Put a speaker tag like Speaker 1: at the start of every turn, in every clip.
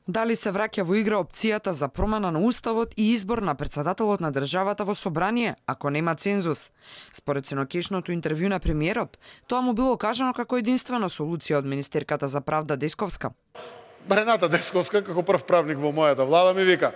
Speaker 1: Дали се враќа во игра опцијата за промена на уставот и избор на председателот на државата во собрание, ако нема цензус? Според синокешното интервју на премиерот, тоа му било кажано како единствена солуција од министерката за правда Десковска.
Speaker 2: Рената Десковска, како прв правник во мојата влада, ми вика: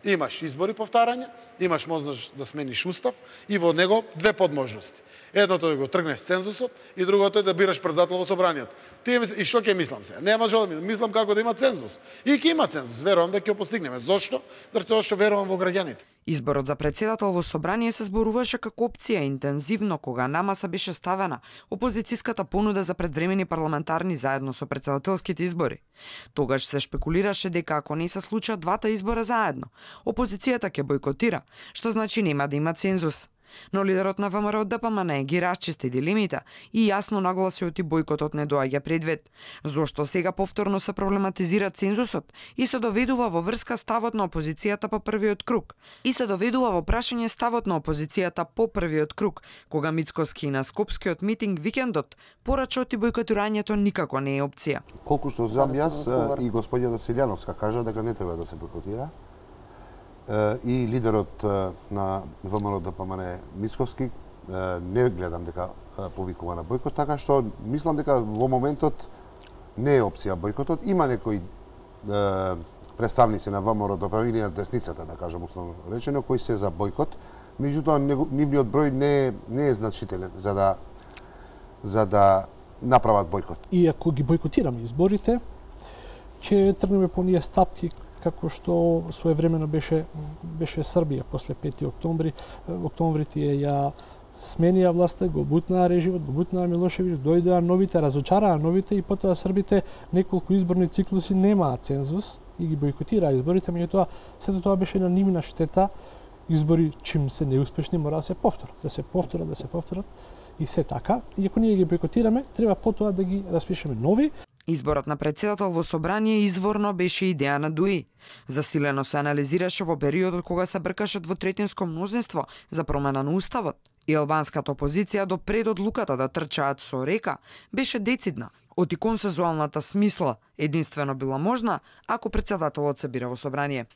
Speaker 2: имаш избори повтарање, имаш можност да смениш устав и во него две подможности. Едното е да го тргнеш цензусот и другото е да бираш председател во собранието. И што ќе мислам се? Нема што да мислам како да има цензус. И ќе има цензус, верувам дека ќе го постигнеме. Зошто? Затоа што верувам во граѓаните.
Speaker 1: Изборот за председател во собрание се зборуваше како опција интензивно кога на маса беше ставена опозицијската понуда за предвремени парламентарни заедно со председателските избори. Тогаш се шпекулираше дека ако не се случат двата избора заедно, опозицијата ќе бойкотира, што значи нема да има цензус. Но лидерот на ВМРО-ДПМН ги расчисти дилемите и јасно нагласи оти бойкотот не доаѓа предвид. Зошто сега повторно се проблематизира цензусот и се доведува во врска ставот на опозицијата по првиот круг. И се доведува во прашање ставот на опозицијата по првиот круг, кога Мицкоски на скопскиот митинг викендот порача оти бойкотирањето никако не е опција.
Speaker 3: Колку што знам јас и господјата Селјановска кажа дека не треба да се бойкотира. И лидерот на ВМРО-ДПМН Мицкоски не гледам дека повикува на бойкот, така што мислам дека во моментот не е опција бойкотот. Има некои представници на ВМРО-ДПМН и на десницата, да кажам условно речено, кои се за бойкот, меѓутоа нивниот број не е значителен за да направат бойкот.
Speaker 4: И ако ги бойкотираме изборите, ќе тргнеме по оние стапки како што своевремено беше Србија после 5 октомври. Октомврите ја сменија власта, го бутнаа режимот, го бутнаа Милошевиќ, дојдоа новите, разочараа новите и потоа србите неколку изборни циклуси немаа цензус и ги бойкотираа изборите, меѓутоа сето тоа беше на нивна штета. Избори чим се неуспешни мора да се повторат и се така. И ако ние ги бойкотираме, треба потоа да ги распишеме нови.
Speaker 1: Изборот на председател во собрание изворно беше идеја на ДУИ. Засилено се анализираше во периодот кога се бркаше двотретинско мнозинство за промена на уставот. И албанската опозиција до пред одлуката да трчаат со река беше децидна. Оти консензуалната смисла единствено била можна ако председателот се бира во собрание.